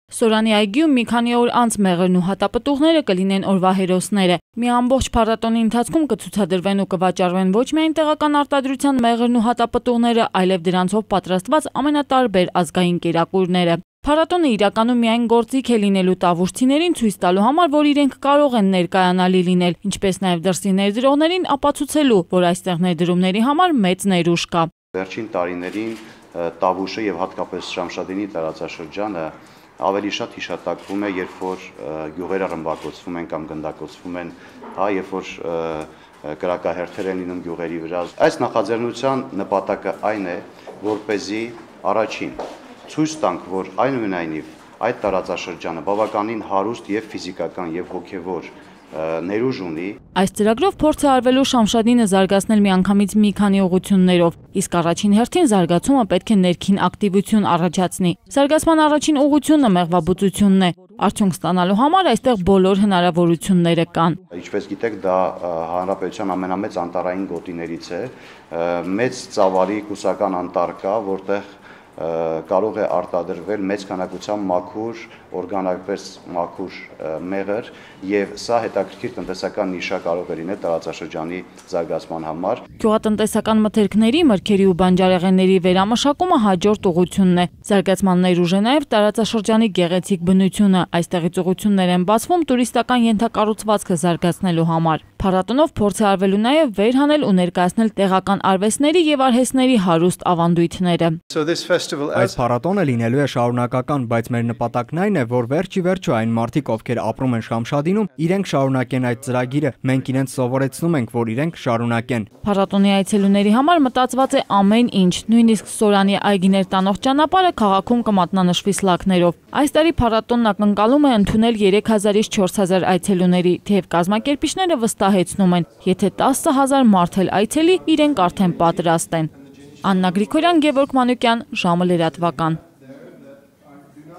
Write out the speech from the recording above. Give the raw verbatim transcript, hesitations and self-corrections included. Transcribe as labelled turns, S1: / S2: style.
S1: Սորանի այգիում մի քանի օր անց մեղրն ու հատապտուղները կլինեն օրվա հերոսները։ Մի ամբողջ փառատոնի ընթացքում կցուցադրվեն ու կվաճառվեն ոչ միայն տեղական արտադրության մեղրն ու հատապտուղները, այլև դրանցով պատրաստված ամենատարբեր ազգային կերակուրները։ Փառատոնը իրականում միայն գործիք է լինելու տավուշցիներին ցույց տալու համար, որ իրենք կարող են ներկայանալի լինել, ինչպես նաև դրսի ներդրողներին ապացուցելու, որ այստեղ ներդրումների համար մեծ ներուժ կա։
S2: Վերջին տարիներին Տավուշը եւ հատկապես Շամշադինի տարածաշրջանը ավելի շատ հիշատակվում է, երբ որ գյուղերը ռմբակոծվում են կամ գնդակոծվում են, հա, երբ որ կրակահերթեր են լինում գյուղերի վրա։ Այս նախաձեռնության նպատակը այն է, որպեսզի առաջին ցույց տանք, որ այնուամենայնիվ այդ տարածաշրջանը բավականին հարուստ եւ ֆիզիկական եւ հոգեվոր ներուժ ունի։
S1: Այս ծրագրով փորձ է արվելու Շամշադինը զարգացնել միանգամից մի քանի ուղղություններով, իսկ առաջին հերթին զարգացումը պետք է ներքին ակտիվություն առաջացնի։ Զարգացման առաջին ուղղությունը մեղվաբուծությունն է։ Արդյունք ստանալու համար այստեղ բոլոր հնարավորությունները կան։
S2: Ինչպես գիտեք, դա հանրապետության ամենամեծ անտառային գոտիներից է, մեծ ծավալի կուսական անտառ կա, որտեղ կարող է արտադրվել մեծ քանակությամբ մաքուր, օրգանապես մաքուր մեղր, եւ սա հետաքրքիր տնտեսական նիշա կարող է լինել տարածաշրջանի զարգացման համար։
S1: Գյուղատնտեսական մթերքների, մրգերի ու բանջարեղենների վերամշակումը հաջորդ ուղղությունն է։ Զարգացման ներուժ է նաև տարածաշրջանի գեղեցիկ բնությունը։ Այստեղից ուղղություններ են բացվում տուրիստական ենթակառուցվածքը զարգացնելու համար։ Փառատոնով փորձ է արվելու նաև վերհանել ու ներկայացնել տեղական արվեստների եւ արհեստների հարուստ ավանդույթները։
S3: Այս փառատոնը լինելու է շարունակական, բայց մեր նպատակն այն է, որ վերջի վերջո այն մարդիկ, ովքեր ապրում են Շամշադինում, իրենք շարունակեն այդ ծրագիրը, մենք իրենց սովորեցնում ենք, որ իրենք շարունակեն։
S1: Փառատոնի այցելուների համար մտածված է ամեն ինչ, նույնիսկ Սորանի այգիներ տանող ճանապարհը քաղաքում կմատնանշվի սլաքներով։ Այս տարի փառատոնն ակնկալում է ընդունել երեք հազարից չորս հազար այցելուների, թեև կազմակերպիչները վստահեցնում են, եթե տասը հազար մարդ էլ այցելի, իրենք արդեն պատրաստ են։ Աննա Գրիգորյան, Գևորգ Մանուկյան, ժամը լրատվական։